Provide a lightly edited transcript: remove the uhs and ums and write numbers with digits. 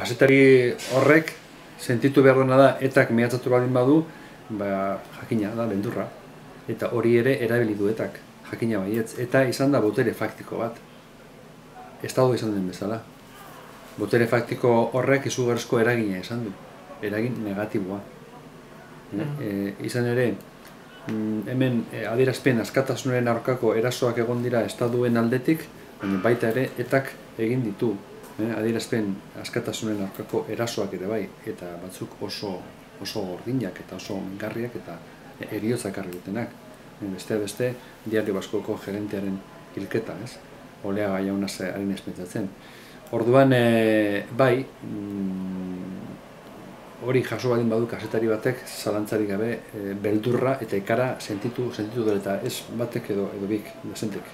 kazetari horrek sentitu behar dena da etak mehatzatu baldin badu, jakina da beldurra. Eta hori ere erabili du etak, jakina baietz. Eta izan da botere faktiko bat. Estado izan den bezala. Botere faktiko horrek izugarrizko eragina izan du. Eragin negatiboa. Izan ere, hemen adierazpen askatasunaren aurkako erasoak egon dira estaduen aldetik, baina baita ere etak egin ditu. Adierazpen askatasunen aurkako erasoak ere bai, eta batzuk oso gordinak eta oso mingarriak eta heriotzak ekarri dutenak. Beste, Diario Baskoko gerentearen hilketa, ez? Oleaga jaunaz harin espentsatzen. Orduan, bai, hori jaso baldin badu kazetari batek, zalantzarik gabe, beldurra eta ikara sentitu dut eta ez batek edo bik, desentek.